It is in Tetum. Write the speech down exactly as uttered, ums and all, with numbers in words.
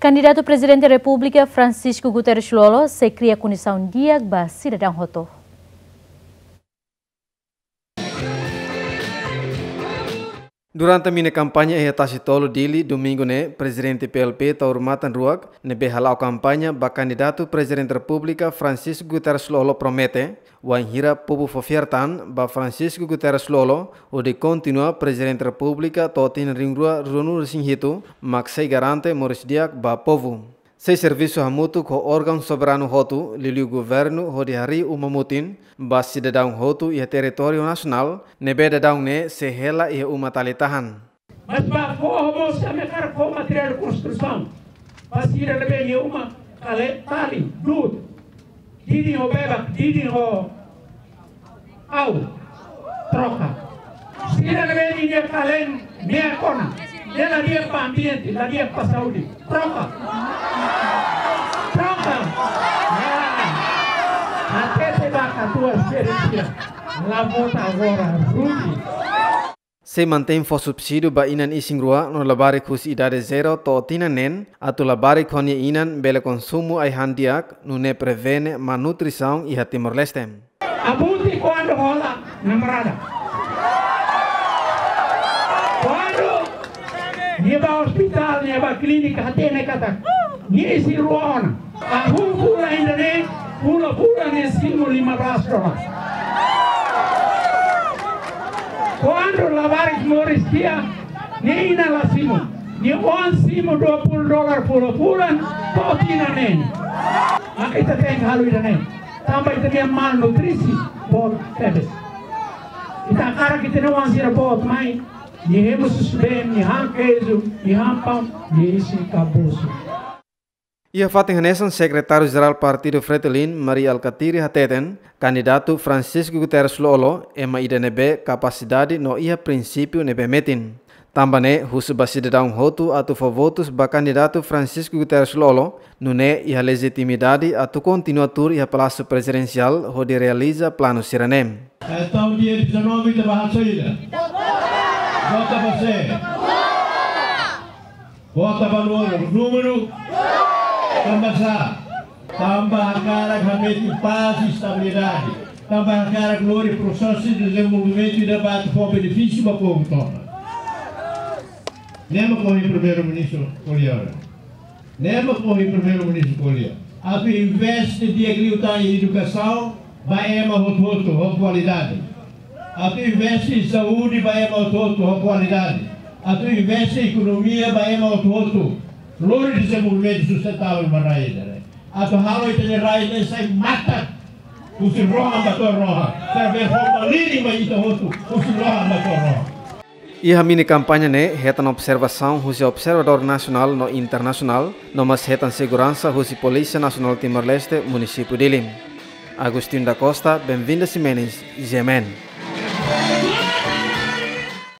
Kandidatu Prezidente Repúblika Francisco Guterres Lú-Olo sei kria kondisaun di'ak ba sidadaun hotu. Durante mini kampaña iha Tasi Tolu, Dili, Domingu ne'e, Prezidente P L P Taur Matan Ruak, ne'ebé hala'o kampaña ba kandidatu Prezidente Repúblika Francisco Guterres Lú-Olo promete, wainhira povu fó fiar tan ba Francisco Guterres Lú-Olo hodi kontinua Prezidente Repúblika to'o tinan rihun rua ruanulu-resin-hitu, mak sei garante moris di'ak ba povu. Sei servisu hamutuk ho órgaun soberanu hotu, liuliu governu, hodi harii uma mutin ba sidadaun hotu iha territóriu nasionál, ne'ebé daudaun ne'e sei hela iha uma tali tahan. Mas ba fó ho mós ami hakarak fó materiál konstrusaun. Ba sira ne'ebé nia uma kale tali, du'ut. Didin ho bebak, didin ho awa. Troka. Sira ne'ebé nia kalen meak ona. Ne'e la di'ak ba ambiente, la di'ak ba saúde. Troka. Troka. Ya. Hatete ba katuas sira. La vota agora, Rudi. Sei mantein fó subsídiu ba inan isin-rua no labarik husi idade zero to'o tinan neen, atu labarik ho nia inan bele konsumu ai-han di'ak, nune'e prevene malnutrisaun iha Timor-Leste. Abuti kuandu hola namorada. Kuandu nia bá ospitál, nia bá klínika, hatene katak nia isin-rua ona. Hahú fulan ida-ne'e, fulan-fulan nia simu lima belas dolar. Kuandu labarik moris tiha, nia inan la simu. Nia oan simu dua puluh dolar fulan-fulan, to'o tinan neen. Maka ita tenke halo ida-ne'e. Tanba ita-nia malnutrisi boot tebes. Ita hakarak ita-nia oan sira boot mai, nia hemu susubeen, nia han keiju, nia han paun, nia isin kabosu. Iha fatin hanesan, Sekretáriu Jerál Partidu Fretilin, Mari Alkatiri hateten, kandidatu Francisco Guterres Lú-Olo ema ida ne'ebé kapasidade no iha prinsípiu ne'ebé metin. Tanba ne'e, husu ba sidadaun hotu atu fó votus ba kandidatu Francisco Guterres Lú-Olo, nune'e iha lejitimidade atu kontinua tuur iha Palásiu Prezidensiál hodi realiza planu sira-ne'e. Entaun, dia dezanove ita bá halo saida? Vota ba sé? Vota ba númeru. Númeru? Tanba sá? Tanba hakarak hametin pás i estabilidade. Tanba hakarak lori prosesu de dezenvolvimentu ida ba atu fó benefísiu ba povu tomak. Ne'e mak ohin Primeiru-Ministru ko'alia. Ne'e mak ohin Primeiru-Ministru ko'alia. Atu investe di'ak liután iha edukasaun ba ema hotu-hotu ho kualidade. Atu investe iha saúde ba ema hotu-hotu ho kualidade. Atu investe iha ekonomia ba ema hotu-hotu. Lori dezenvolvimentu sustentável ba rai ida-ne'e. Atu halo ita-nia rai ne'e sai matak husi rohan ba to'o rohan. Através forma liri mai ita hotu husi rohan ba to'o rohan. Iha mini kampaña ne'e hetan observasaun husi observadór nasionál no internasionál, no mós hetan seguransa husi Polísia Nasionál Timor-Leste, Munisípiu Dili. Agostinho da Costa, Benvinda Ximenes, G M N.